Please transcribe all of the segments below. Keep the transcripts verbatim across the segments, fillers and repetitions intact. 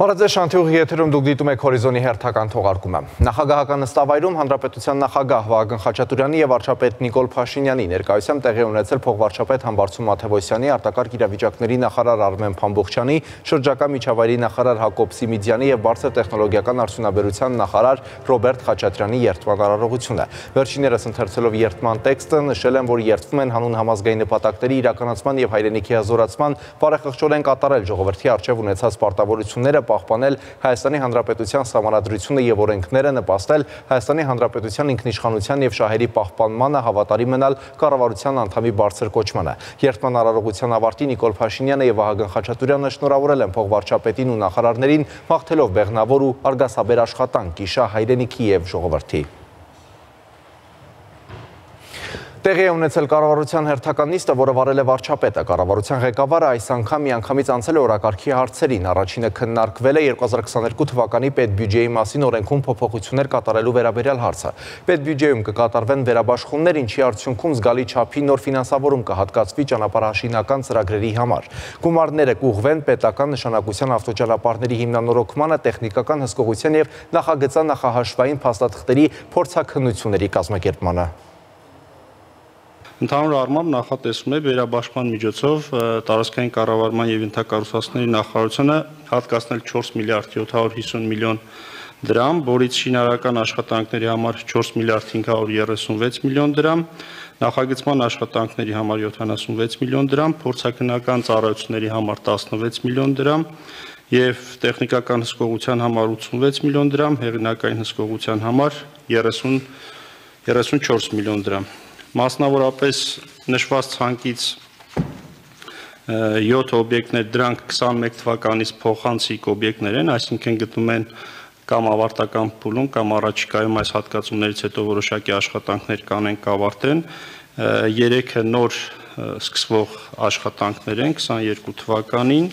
Բարև շանթյուղի եթերում դուք դիտում եք հորիզոնի հերթական թողարկումը։ Նախագահական նստավայրում Հանրապետության նախագահ Վահագն Խաչատուրյանի եւ վարչապետ Նիկոլ Փաշինյանի ներկայությամբ տեղի ունեցել փոխվարչապետ Համբարձում Մաթևոսյանի, արտակարգ իրավիճակների նախարար Արմեն Փամբոխչյանի, շրջակա միջավայրի նախարար Հակոբ Սիմիդյանի եւ բարձր տեխնոլոգիական արդյունաբերության նախարար Ռոբերտ Խաչատրյանի երթման արարողությունը։ Վերջիններս ընթերցելով երթման տեքստը նշել են, որ երթվում են հանուն համազգային նպատակների իրականացման եւ հայրենիքի հզորացման բարեխղճորեն կատարել ժողովրդի առջեւ ունեցած պարտավորությունները, պահպանել Հայաստանի Հանրապետության սահմանադրությունը եւ օրենքները, նպաստել Հայաստանի Հանրապետության ինքնիշխանության եւ շահերի պահպանմանը, հավատարիմ մնալ կառավարության անդամի բարձր կոչմանը։ Երթման արարողության ավարտին Նիկոլ Փաշինյանը եւ Վահագն Խաչատուրյանը շնորհավորել են փոխվարչապետին ու նախարարներին, մաղթելով բեղնավոր ու արգասաբեր աշխատանք, իշա հայրենիքի եւ ժողովրդի։ Տեղի է ունեցել կառավարության հերթական նիստը, որը վարել է վարչապետը։ Կառավարության ղեկավարը այս անգամ միանգամից անցել է օրակարգի հարցերին։ Առաջինը քննարկվել է երկու հազար քսաներկու թվականի պետբյուջեի մասին օրենքում փոփոխություններ կատարելու վերաբերյալ հարցը։ Պետբյուջեում կկատարվեն վերաբաշխումներ, ինչի արդյունքում զգալի չափի նոր ֆինանսավորում կհատկացվի ճանապարհաշինական ծրագրերի համար։ Գումարները կուղղվեն պետական նշանակության ավտոճանապարհների հիմնանորոգմանը, տեխնիկական հսկողության եւ նախագծան նախահաշվային փաստաթղթերի փորձաքննությունների կազմակերպմանը։ Ընդհանուր առմամբ նախատեսվում է վերաբաշխման միջոցով տարածքային կառավարման եւ ենթակառուցվածքների նախարարությունը հատկացնել չորս միլիարդ յոթ հարյուր հիսուն միլիոն դրամ, որից շինարարական աշխատանքների համար չորս միլիարդ հինգ հարյուր երեսունվեց միլիոն դրամ, նախագծման աշխատանքների համար յոթանասունվեց միլիոն դրամ, փորձաքննական ծառայությունների համար տասնվեց միլիոն դրամ եւ տեխնիկական հսկողության համար ութսունվեց միլիոն դրամ, հեղինակային հսկողության համար երեսունչորս միլիոն դրամ։ Մասնավորապես նշված ցանկից յոթ օբյեկտներ, դրանք քսանմեկ թվականից փոխանցիկ օբյեկտներ են, այսինքն գտնվում են կամ ավարտական փուլում, կամ առաջիկայում այս հատկացումներից հետո որոշակի աշխատանքներ կանեն կավարտեն։ Երեքը նոր սկսվող աշխատանքներ են քսաներկու թվականին,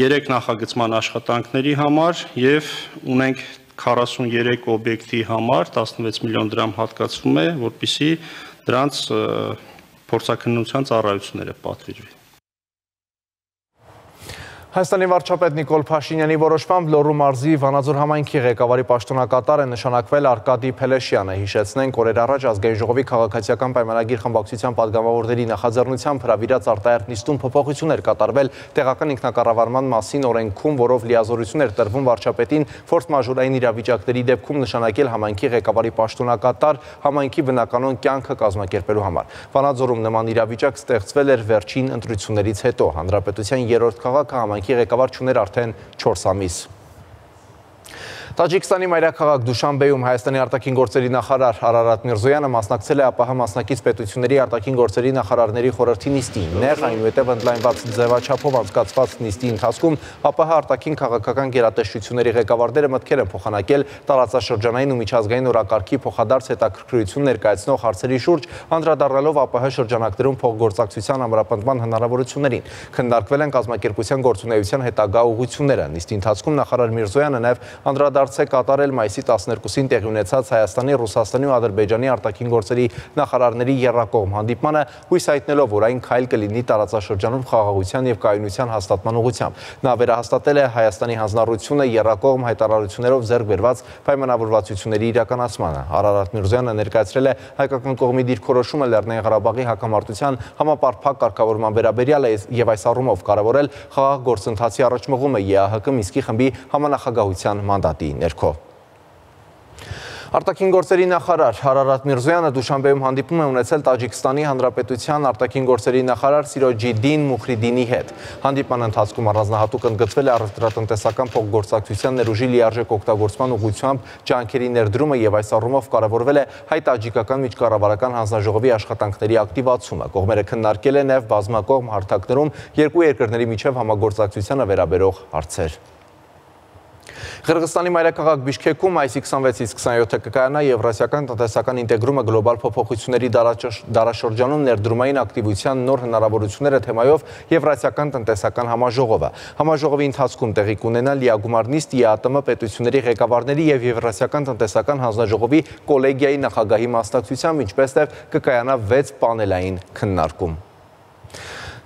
երեք նախագծման աշխատանքների համար եւ ունենք քառասուներեք օբյեկտի համար տասնվեց միլիոն դրամ հատկացվում է, որպեսզի դրանց փորձաքննության ծառայությունները պատվիրվի։ Հայաստանի վարչապետ Նիկոլ Փաշինյանի որոշմամբ Լոռու մարզի Վանաձոր համայնքի ղեկավարի պաշտոնակատար է նշանակվել Արկադի Փելեշյանը։ Հիշեցնենք, օրեր առաջ ազգային ժողովի քաղաքացիական պայմանագիր խմբակցության падգամավորների նախաձեռնությամբ հրավիրած արտահերթ նիստում փոփոխություններ կատարվել տեղական ինքնակառավարման մասին օրենքում, որով լիազորություն էր տրվում վարչապետին ֆորս մաժորային իրավիճակների դեպքում նշանակել համայնքի ղեկավարի պաշտոնակատար համայնքի բնականոն կյանքը կազմակերպելու համար։ Վանաձորում նման իրավիճակ ստեղծվել էր վերջին ընտրություններից հետո։ Հանրապետության երրորդ քաղաքը համայնքի ղեկավար չուներ արդեն չորս ամիս։ Տաջիկստանի մայրաքաղաք Դուշանբեում Հայաստանի արտաքին գործերի նախարար Արարատ Միրզոյանը մասնակցել է ԱՊՀ մասնակից պետությունների արտաքին գործերի նախարարների խորհրդի նիստին։ Նեղ, այնուհետև ընդլայնված ձևաչափով անցկացված նիստի ընթացքում ԱՊՀ արտաքին քաղաքական գերատեսչությունների ղեկավարները մտքեր են փոխանակել տարածաշրջանային ու միջազգային օրակարգի փոխադարձ հետաքրքրություն ներկայացնող հարցերի շուրջ, անդրադառնալով ԱՊՀ շրջանակներում փոխգործակցության ամրապնդման հնարավորություններին։ Քննարկվել են կազմակերպության գործունեության հետագա ուղղությունները։ Նիստի ընթացքում նախարար Միրզոյանը նաև անդրադարձ է կատարել մայիսի տասներկուսին տեղի ունեցած Հայաստանի, Ռուսաստանի ու Ադրբեջանի արտաքին գործերի նախարարների եռակողմ հանդիպմանը, հույս հայտնելով, որ այն քայլ կլինի տարածաշրջանում խաղաղության եւ կայունության հաստատման ուղղությամբ։ Նա վերահաստատել է Հայաստանի հանձնառությունը եռակողմ հայտարարություններով ձեռք բերված պայմանավորվածությունների իրականացմանը։ Արարատ Միրզոյանը ներկայացրել է հայկական կողմի դիրքորոշումը Լեռնային Ղարաբաղի հակամարտության համապարփակ կարգավորման վերաբերյալ եւ այս առումով կարևորել խաղաղ գործընթացի առաջմղումը ԵԱՀԿ Մինսկի խմբի համանախագահության մանդատի ներքո։ Արտաքին գործերի նախարար Արարատ Միրզոյանը Դուշանբեում հանդիպում է ունեցել Տաջիկստանի Հանրապետության արտաքին գործերի նախարար Սիրոջիդին Մուխրիդինի հետ։ Հանդիպման ընթացքում առանձնահատուկ ընդգծվել է առևտրատնտեսական փոխգործակցության ներուժի լիարժեք օգտագործման ուղղությամբ ջանքերի ներդրումը եւ այս առումով կարևորվել է հայ-տաջիկական միջկառավարական հանձնաժողովի աշխատանքների ակտիվացումը։ Կողմերը քննարկել են նաեւ բազմակողմ հարթակներում երկու երկրների միջև համագործակցությանը վերաբերող հարցեր։ Ղրղստանի մայրաքաղաք Բիշքեքում այսի քսանվեցից քսանյոթը կկայանա Եվրասիական տնտեսական ինտեգրումը գլոբալ փոփոխությունների դարաշրջանում ներդրումային ակտիվության նոր հնարավորությունները թեմայով Եվրասիական տնտեսական համաժողովը։ Համաժողովի ընթացքում տեղի կունենա լիագումար նիստ ԵԱՏՄ պետությունների ղեկավարների եւ Եվրասիական տնտեսական հանձնաժողովի կոլեգիայի նախագահի մասնակցությամբ, ինչպես նաև կկայանա վեց պանելային քննարկում։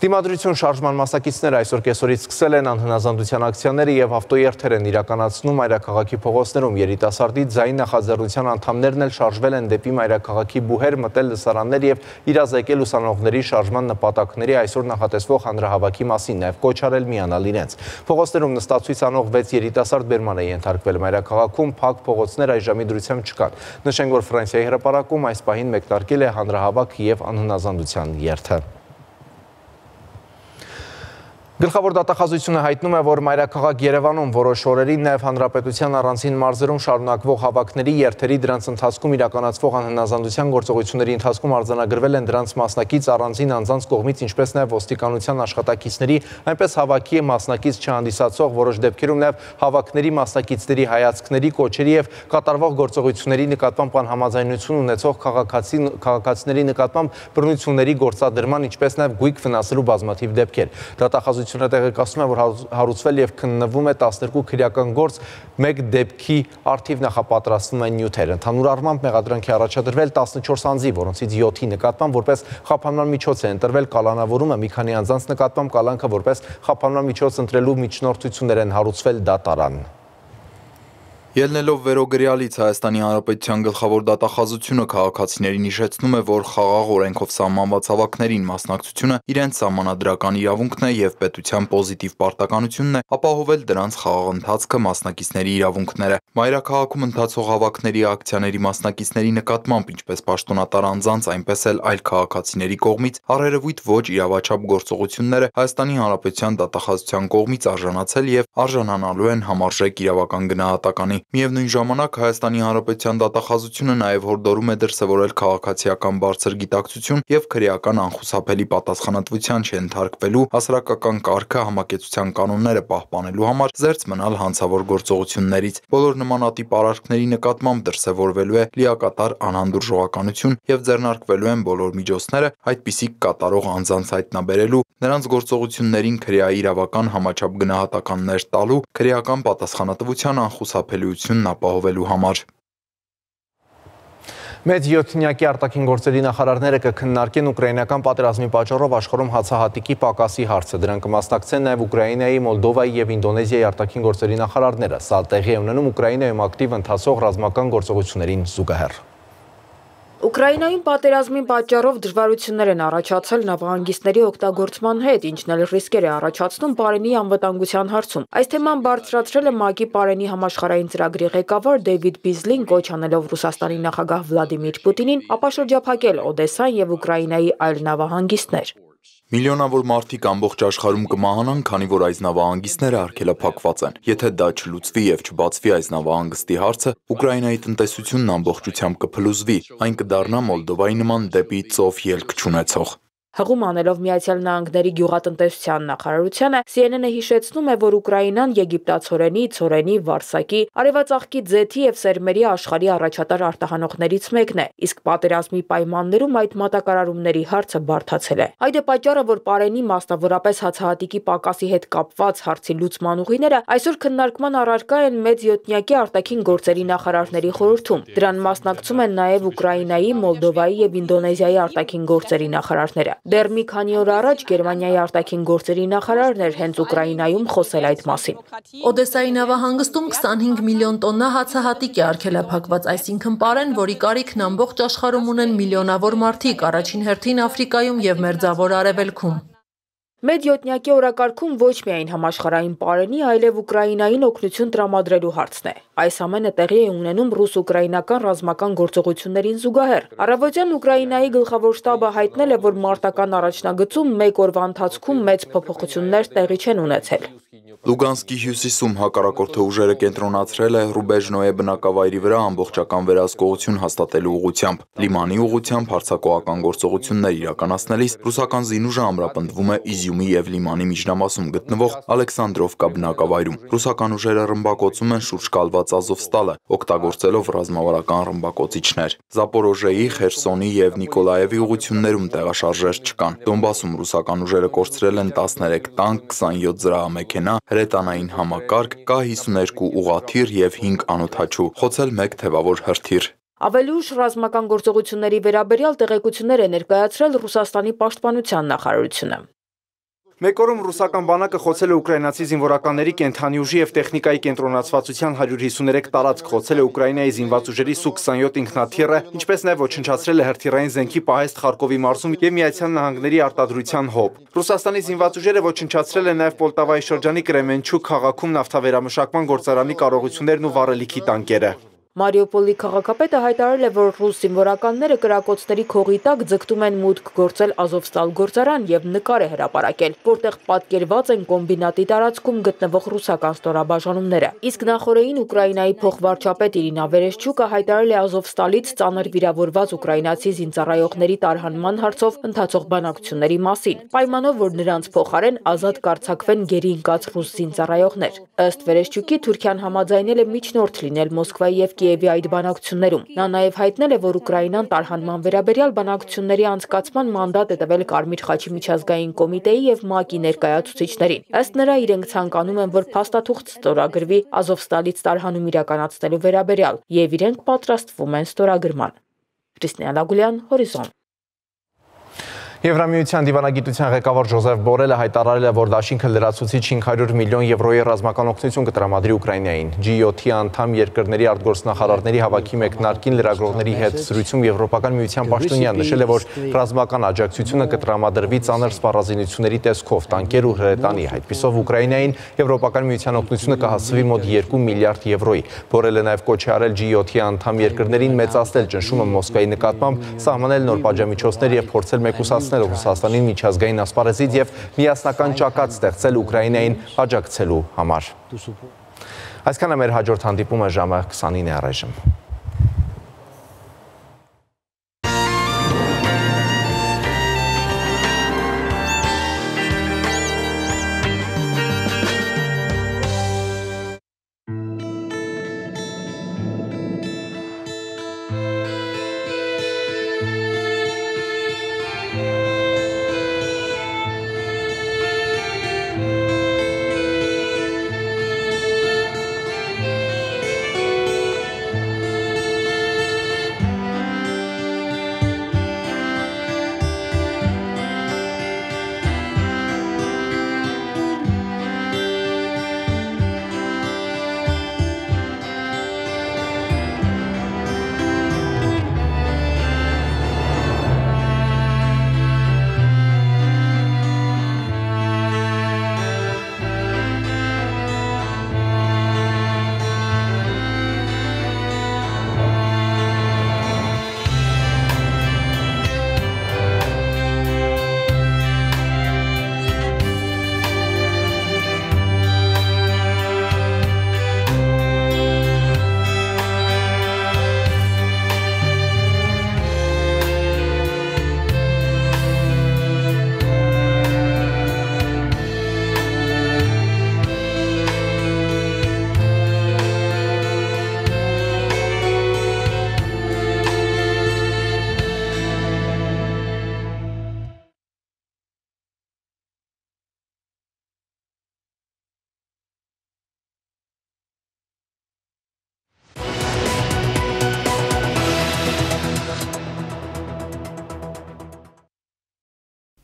Դիմադրություն շարժման մասնակիցները այսօր կեսօրից սկսել են անհնազանդության ակցիաները եւ ավտոերթեր են իրականացնում մայրաքաղաքի փողոցներում։ Երիտասարդի ձայն նախաձեռնության անդամներն էլ շարժվել են դեպի մայրաքաղաքի բուհեր, մտել լսարաններ եւ իրազեկել ուսանողների շարժման նպատակների այսօր նախատեսվող հանրահավաքի մասին, նաեւ կոչ արել միանալ իրենց։ Փողոցներում նստացույց անող վեց երիտասարդ բերման է ենթարկվել մայրաքաղաքում, փակ փողոցներ այժմի դրությամբ չկան։ Նշենք, որ Ֆրանսիայի հրապարակում այս պահին մեկնարկել է հանրահավաք եւ անհնազանդության երթը։ Գլխավոր դատախազությունը հայտնում է, որ մայրաքաղաք Երևանում որոշ օրերին նաև հանրապետության առանցին մարզերում շարունակվող հավաքների երթերի դրանց ընթացքում իրականացվող անհնազանդության գործողությունների ընթացքում արձանագրվել են դրանց մասնակից առանձին անձանց կողմից, ինչպես նաև ոստիկանության աշխատակիցների, այնպես հավաքի մասնակից չհանդիսացող որոշ դեպքերում նաև հավաքների մասնակիցների հայացքների, կոչերի եւ կատարվող գործողությունների նկատմամբ անհամաձայնություն ունեցող քաղաքացիների նկատմամբ բռնությունների գործադրման, ինչպես նաև գույք վնասելու բազմաթիվ դեպքեր։ Դատախազությունը տեղեկացնում է, որ հարուցվել եւ քննվում է տասներկու քրեական գործ, մեկ դեպքի առթիվ նախապատրաստվում են նյութեր։ Ընդհանուր առմամբ մեղադրանքի առաջադրվել տասնչորս անձի, որոնցից յոթի նկատմամբ որպես խափանման միջոց է ընտրվել կալանավորումը, մի քանի անձանց նկատմամբ կալանքը որպես խափանման միջոց ընտրելու միջնորդություններ են հարուցվել դատարան։ Ելնելով վերոգրյալից Հայաստանի Հանրապետության գլխավոր դատախազությունը քաղաքացիներին հիշեցնում է, որ խաղաղ օրենքով սահմանված հավաքներին մասնակցությունը իրենց սահմանադրական իրավունքն է եւ պետության պոզիտիվ պարտականությունն է ապահովել դրանց խաղաղ ընթացքը մասնակիցների իրավունքները։ Մայրաքաղաքում ընթացող հավաքների ակցիաների մասնակիցների նկատմամբ, ինչպես պաշտոնատար անձանց, այնպես էլ այլ քաղաքացիների կողմից առերևույթ ոչ իրավաչափ գործողությունները Հայաստանի Հանրապետության դատախազության կողմից արժանացել եւ արժանանալու են համարժեք իրավական գնահատականի։ Միևնույն ժամանակ Հայաստանի Հանրապետության դատախազությունը նաև հորդորում է դրսևորել քաղաքացիական բարձր գիտակցություն եւ քրեական անխուսափելի պատասխանատվության չենթարկվելու հասարակական կարգը համակեցության կանոնները պահպանելու համար զերծ մնալ հանցավոր գործողություններից։ Բոլոր նմանատիպ արարքների նկատմամբ դրսևորվելու է լիակատար անհանդուրժողականություն եւ ձեռնարկվելու են բոլոր միջոցները այդպիսի կատարող անձանց հայտնաբերելու, նրանց գործողություններին քրեաիրավական համաչափ գնահատականներ տալու, քրեական պատասխանատվության անխուսափելիությունն ապահովելու համար։ Մեծ յոթնյակի արտաքին գործերի նախարարները կքննարկեն ուկրաինական պատերազմի պատճառով աշխարհում հացահատիկի պակասի հարցը։ Դրան կմասնակցեն նաև Ուկրաինայի, Մոլդովայի եւ Ինդոնեզիայի արտաքին գործերի նախարարները։ Սա տեղի է ունենում Ուկրաինայում ակտիվ ընթացող ռազմական գործողություններին զուգահեռ։ Ուկրաինայում պատերազմի պատճառով դժվարություններ են առաջացել նավահանգիստների օգտագործման հետ, ինչն էլ ռիսկեր է առաջացնում Պարենի անվտանգության հարցում։ Այս թեման բարձրացրել է ՄԱԿ-ի Պարենի համաշխարհային ծրագրի ղեկավար Դեյվիդ Բիզլին, կոչ անելով Ռուսաստանի նախագահ Վլադիմիր Պուտինին ապաշրջափակել Օդեսան եւ Ուկրաինայի այլ նավահանգիստներ։ Միլիոնավոր մարդիկ ամբողջ աշխարհում կմահանան, քանի որ այս նավահանգիստները արգելափակված են։ Եթե դա չլուծվի եւ չբացվի այս նավահանգստի հարցը, Ուկրաինայի տնտեսությունն ամբողջությամբ կփլուզվի, այն կդառնա Մոլդովայի նման դեպի ծով ելք չունեցող։ Հղում անելով Միացյալ Նահանգների գյուղատնտեսության նախարարությանը, Սի Էն Էն-ը հիշեցնում է, որ Ուկրաինան եգիպտացորենի, ցորենի, վարսակի, արևածաղկի ձեթի եւ սերմերի աշխարհի առաջատար արտահանողներից մեկն է, իսկ պատերազմի պայմաններում այդ մատակարարումների հարցը բարդացել է։ Այդ է պատճառը, որ Պարենի, մասնավորապես հացահատիկի պակասի հետ կապված հարցի լուծման ուղիները այսօր քննարկման առարկա են մեծ յոթնյակի արտաքին գործերի նախարարների խորհրդում։ Դրան մասնակցում են նաեւ Ուկրաինայի, Մոլդովայի եւ Ինդոնեզիայի արտաքին գործերի նախարարները։ Դեռ մի քանի օր առաջ Գերմանիայի արտաքին գործերի նախարարն էր հենց Ուկրաինայում խոսել այդ մասին։ Օդեսայի նավահանգստում քսանհինգ միլիոն տոննա հացահատիկ է արգելափակված, այսինքն պարեն, որի կարիքն ամբողջ աշխարհում ունեն միլիոնավոր մարդիկ, առաջին հերթին Աֆրիկայում եւ Մերձավոր Արևելքում։ Մեծ յոթնյակի օրակարգում ոչ միայն համաշխարհային պարենի, այլև Ուկրաինային օգնություն տրամադրելու հարցն է։ Այս ամենը տեղի է ունենում ռուս-ուկրաինական ռազմական գործողություններին զուգահեռ։ Առավոտյան Ուկրաինայի գլխավոր շտաբը հայտնել է, որ մարտական առաջնագծում մեկ օրվա ընթացքում մեծ փոփոխություններ տեղի չեն ունեցել։ Լուգանսկի հյուսիսում հակառակորդի ուժերը կենտրոնացրել է Ռուբեժնոյե բնակավայրի վրա ամբողջական վերահսկողություն հաստատելու ուղղությամբ։ Լիմանի ուղղությամբ հարձակողական գործողություններ իրականացնելիս ռուսական զինուժը ամրապնդվում է Իզյումի եւ Լիմանի միջնամասում գտնվող Ալեքսանդրովկա բնակավայրում։ Ռուսական ուժերը ռմբակոծում են շուրջ կալված Ազովստալը, օգտագործելով ռազմավարական ռմբակոծիչներ։ Զապորոժեի, Խերսոնի եւ Նիկոլաևի ուղղություններում տեղաշարժեր չկան։ Դոնբասում ռուսական ուժերը կորցրել են տասներեք տանկ, քսանյոթ զրահամեքենա, հրետանային համակարգ, կա հիսուներկու ուղղաթիռ եւ հինգ անօդաչու, խոցել մեկ թևավոր հրթիռ։ Ավելի ուշ ռազմական գործողությունների վերաբերյալ տեղեկություններ է ներկայացրել Ռուսաստանի պաշտպանության նախարարությունը։ Մեկ օրում ռուսական բանակը խոցել է ուկրաինացի զինվորականների կենդանի ուժի և տեխնիկայի կենտրոնացվածության հարյուր հիսուներեք տարածք, խոցել է Ուկրաինայի զինված ուժերի Սու քսանյոթ ինքնաթիռը, ինչպես նաև ոչնչացրել է հրթիռային զենքի պահեստ Խարկովի մարզում և Միացյալ Նահանգների արտադրության հոբ։ Ռուսաստանի զինված ուժերը ոչնչացրել է նաև Պոլտավայի շրջանի Կրեմենչուկ քաղաքում նավթավերամշակման գործարանի կարողություններն ու վառելիքի տանկերը։ Մարիուպոլի քաղաքապետը հայտարարել է, որ ռուս զինվորականները կրակոցների քողի տակ ձգտում են մուտք գործել Ազովստալ գործարան և նկար է հրապարակել, որտեղ պատկերված են կոմբինատի տարածքում գտնվող ռուսական ստորաբաժանումները։ Իսկ նախօրեին Ուկրաինայի փոխվարչապետ Իրինա Վերեշչուկը հայտարարել է Ազովստալից ծանր վիրավորված ուկրաինացի զինծառայողների տարհանման հարցով ընթացող բանակցությունների մասին, պայմանով, որ նրանց փոխարեն ազատ կարձակվեն գերի ընկած ռուս զինծառայողներ։ Ըստ Վերեշչուկի, Թուրքիան համաձայնել է միջնորդ լինել Մոսկվայի և Կիևի այդ բանակցություններում։ Նա նաև հայտնել է, որ Ուկրաինան տարհանման վերաբերյալ բանակցությունների անցկացման մանդատ է տվել Կարմիր խաչի միջազգային կոմիտեի և ՄԱԿ-ի ներկայացուցիչներին։ Ըստ նրա, իրենք ցանկանում են, որ փաստաթուղթ ստորագրվի Ազովստալից տարհանում իրականացնելու վերաբերյալ, և իրենք պատրաստվում են ստորագրման։ Կրիստինա Լագուլյան, Հորիզոն։ Եվրամիության դիվանագիտության ղեկավար Ժոզեֆ Բորելը հայտարարել է, որ դաշինքը լրացուցիչ հինգ հարյուր միլիոն եվրոյի ռազմական օգնություն կտրամադրի Ուկրաինային։ Ջի յոթի անդամ երկրների արտգործնախարարների հավաքի մեկնարկին լրագրողների հետ զրույցում Եվրոպական միության պաշտոնյան նշել է, որ ռազմական աջակցությունը կտրամադրվի ծանր սպառազինությունների տեսքով, տանկեր ու հրետանի։ Այդպիսով Ուկրաինային Եվրոպական միության օգնությունը կհասցվի մոտ երկու միլիարդ եվրոյի։ Բորելը նաև կոչ է արել Ջի յոթի անդամ երկրներին մեծացնել ճնշումը Մոսկվայի նկատմամբ, սահմանել նոր պատժամիջոցներ և փորձել մեկուսացնել Ռուսաստանին միջազգային ասպարեզից և միասնական ճակատ ստեղծել Ուկրաինային աջակցելու համար։ Այսքանը մեր հաջորդ հանդիպումը ժամը քսանինը առայժմ։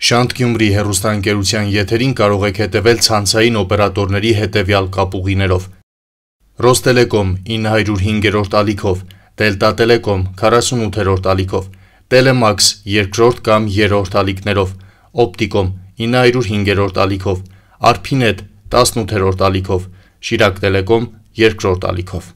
Շանթ Գյումրի հեռուստաընկերության եթերին կարող եք հետևել ցանցային օպերատորների հետևյալ կապուղիներով. Ռոստելեկոմ ինը հարյուր հինգերորդ ալիքով, Դելտա Տելեկոմ քառասունութերորդ ալիքով, Տելեմաքս երկրորդ կամ երրորդ ալիքներով, Օպտիկոմ ինը հարյուր հինգերորդ ալիքով, Արփինետ տասնութերորդ ալիքով, Շիրակ Տելեկոմ երկրորդ ալիքով։